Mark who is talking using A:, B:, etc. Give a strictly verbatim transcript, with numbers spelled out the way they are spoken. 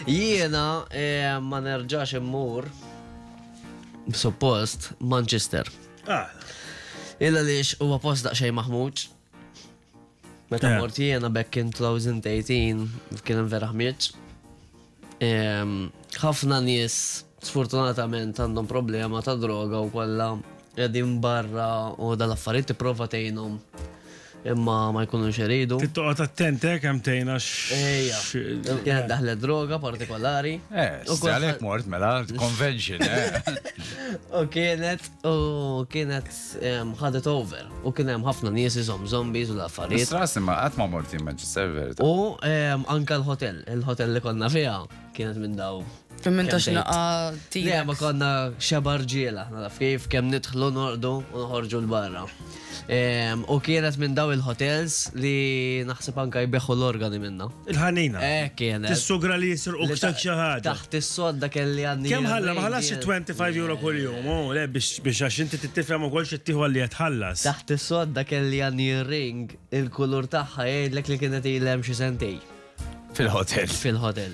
A: Jiena eh, ma nerġax immur suppost Manchester.
B: Ah,
A: Illa lix huwa post daqsxejn maħmuġ. Meta
B: Eh.
A: mort jiena back in twenty eighteen kien hemm vera ħmieġ. Em, Ħafna nies sfortunatament għandhom problema ta' droga u kollha qegħdin barra u dal-affarijiet, tipprova tgħinhom imma ma jkunux iridu.
B: Trid toqgħod attent eh, kemm tgħinha.
A: Ejja, kienet daħlet droga partikolari.
C: Eh,
A: U kulħadd-
C: għalek mort, mela, convention, eh.
A: U kienet, u kienet em, ħadet over. U kien hemm ħafna nies iżom zombies u l-affarijiet.
C: Stras imma qatt ma mort Manchester, verita.
A: U em, anka l-hotel, il-hotel li konna fiha kienet minn daw.
D: Fim minn tax
A: Kemm
D: naqa
A: Le, ma konna xeba rġiela, naf kif kemm nidħlu, norqdu u noħorġu l-barra. Em, U kienet minn daw il-hotels li naħseb anka jbeħħu l-organi minna.
B: Il-ħanina.
A: Eh, kienet.
B: Tissugra li jisirqu
A: Li ta-
B: xi ħaġa.
A: Taħt is-sodda kelli għandi.
B: Kemm ħalla, ma ħallas twenty-five euro kull jum, oh, le, biex biex għax inti tifhem ukoll xi tieħu għalli jitħallas.
A: Taħt is-sodda kelli għandi ring, il-kulur tagħha jgħidlek li kienet ilhem xi sentej
C: Fil-hotel.
A: Fil-hotel.